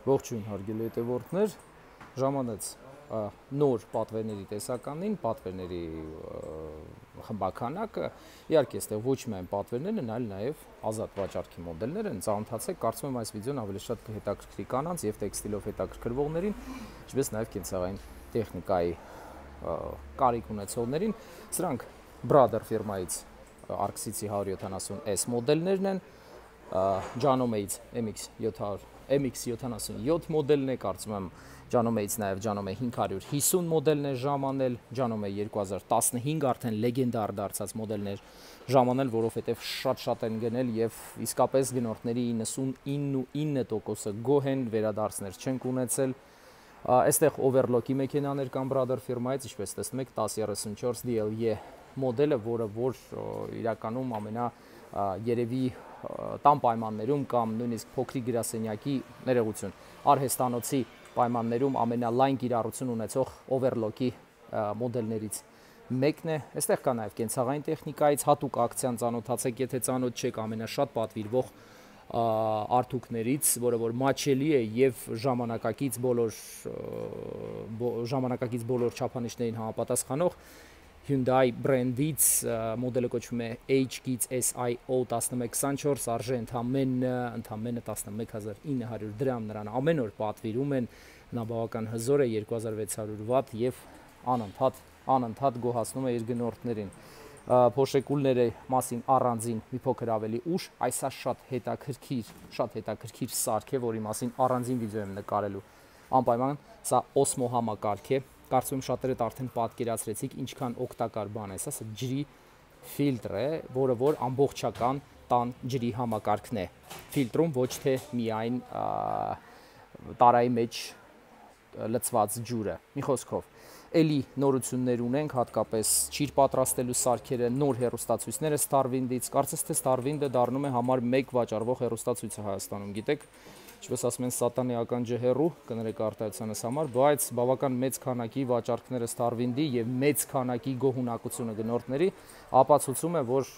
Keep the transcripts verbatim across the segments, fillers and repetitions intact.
Ողջույն հարգելի հետևորդներ, ժամանեց նոր պատվերների տեսականին, պատվերների խմբականակը, իհարկե այստեղ ոչ միայն պատվերներն են, այլ նաև ազատ վաճառքի մոդելներ են, ծանոթացեք, կարծում եմ այս վիդեոն ավելի շատ կհետաքրքրի կանանց եւ տեքստիլով հետաքրքրվողներին, ինչպես նաև կենցաղային տեխնիկայի կարիք ունեցողներին, սրանք Brother ֆիրմայից Arxis հարյուր յոթանասուն S մոդելներն են, Janome-ից M X յոթանասունյոթ մոդելն է, կարծում եմ Janome-ից նաև Janome հինգ հարյուր հիսուն մոդելն է ժամանել, Janome երկու հազար տասնհինգ արդեն լեգենդար դարձած մոդելներ ժամանել, որովհետև շատ-շատ են գնել եւ իսկապես գնորդների իննսունինը տոկոսը գոհ են, վերադարձներ չենք ունեցել։ Այստեղ overlock-ի մեքենաներ կան Brother ֆիրմայից, ինչպես տեսնում եք տասը երեսունչորս D L E մոդելը, որը որ իրականում ամենա երևի տան պայմաններում կամ նույնիսկ փոքրիկ գրասենյակի ներողություն արհեստանոցի պայմաններում ամենալայն կիրառություն ունեցող overlock-ի մոդելներից մեկն է։ Այստեղ կա նաև կենցաղային տեխնիկայից հատուկ ակցիան ծանոթացեք, եթե ծանոթ չեք ամենաշատ պատվիրվող արդյունքներից, որը որ մաչելի է եւ ժամանակակից բոլոր ժամանակակից բոլոր չափանիշներին համապատասխանող Hyundai բրենդից մոդելը կոչվում է H G S I O տասնմեկ քսանչորս, արժե ընդամենը ընդամենը տասնմեկ հազար ինը հարյուր դրամ, նրան ամեն օր պատվիրում են, նա բավական հզոր է, երկու հազար վեց հարյուր վատ եւ անընդհատ անընդհատ գոհացնում է իր գնորդներին։ Փոշեկուլների մասին առանձին մի փոքր ավելի ուշ, այս է շատ հետաքրքիր, շատ հետաքրքիր սարք է, որի մասին առանձին վիդեո եմ նկարելու։ Անպայման սա Osmo համակարգ է, կարծում եմ շատերդ արդեն պատկերացրեցիք ինչքան օգտակար բան է, սա ջրի ֆիլտր է, որը որ ամբողջական տան ջրի համակարգն է։ Ֆիլտրում ոչ թե միայն տարայի մեջ լցված ջուրը։ Մի խոսքով Էլի նորություններ ունենք, հատկապես ջիր պատրաստելու սարքերը, նոր հեռուստացույցները Starwind-ից, կարծես թե Starwind-ը դառնում է համար մեկ վաճառվող հեռուստացույցը Հայաստանում, գիտեք, ինչպես ասում են սատանեական ջհեռու, կներեք արտահայտությանս համար, բայց բավական մեծ քանակի վաճառքները Starwind-ի եւ մեծ քանակի գոհունակությունը գնորդների ապացուցում է, որ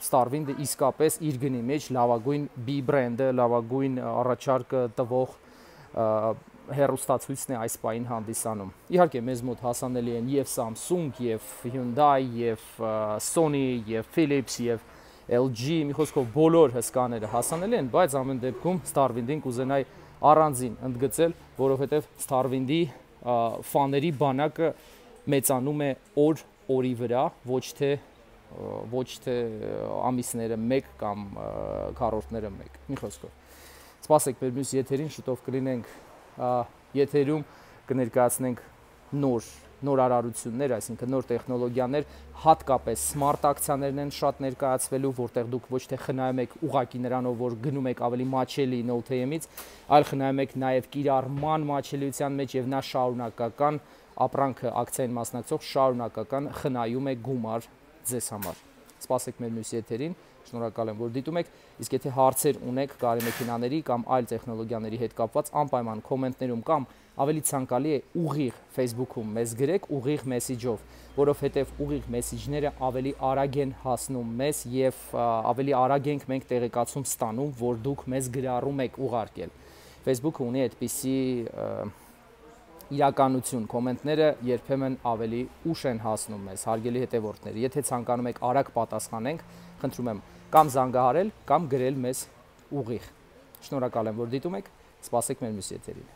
Starwind-ը իսկապես իր գնի մեջ լավագույն B բրենդը, լավագույն առաջարկը տվող հեռուստացույցն է այս պահին հանդիսանում։ Իհարկե մեզ մոտ հասանելի են եւ Samsung, եւ Hyundai, եւ Sony, եւ Philips, եւ L G, մի խոսքով բոլոր հսկաները հասանելի են, բայց ամեն դեպքում Starwind-ին կուզենայի առանձին ընդգծել, որովհետեւ Starwind-ի ֆաների բանակը մեծանում է օր օրի վրա, ոչ թե ոչ թե ամիսները մեկ կամ քառորդները մեկ։ Մի խոսքով սպասեք մեր մյուս եթերին, շուտով կլինենք եթերում կներկայացնենք նոր նորարարություններ, այսինքն նոր տեխնոլոգիաներ, հատկապես smart ակցիաներն են շատ ներկայացվելու, որտեղ դուք ոչ թե խնայում եք ուղակի նրանով, որ գնում եք ավելի մաչելի Note M-ից, այլ խնայում եք նաև կիրառման մաչելիության մեջ եւ նա շարունակական ապրանքը ակցիային մասնակցող շարունակական խնայում է գումար ձեզ համար։ Սպասեք մեր մյուս եթերին, շնորհակալ եմ, որ դիտում եք, իսկ եթե հարցեր ունեք կարի մեքենաների կամ այլ տեխնոլոգիաների հետ կապված, անպայման կոմենտներում կամ ավելի ցանկալի է ուղիղ Facebook-ում մեզ գրեք ուղիղ մեսիջով, որովհետև ուղիղ մեսիջները ավելի արագ են հասնում մեզ եւ ավելի արագ ենք մենք տեղեկացում ստանում, որ դուք մեզ գրառում եք ուղարկել։ Facebook-ը ունի այդպիսի իրականություն, կոմենտները երբեմն ավելի ուշ են հասնում մեզ, հարգելի հետևորդներ, եթե ցանկանում եք արագ պատասխանենք, խնդրում եմ կամ զանգահարել, կամ գրել մեզ ուղիղ։ Շնորհակալ եմ, որ դիտում եք, սպասեք մեր մյուս եթերին։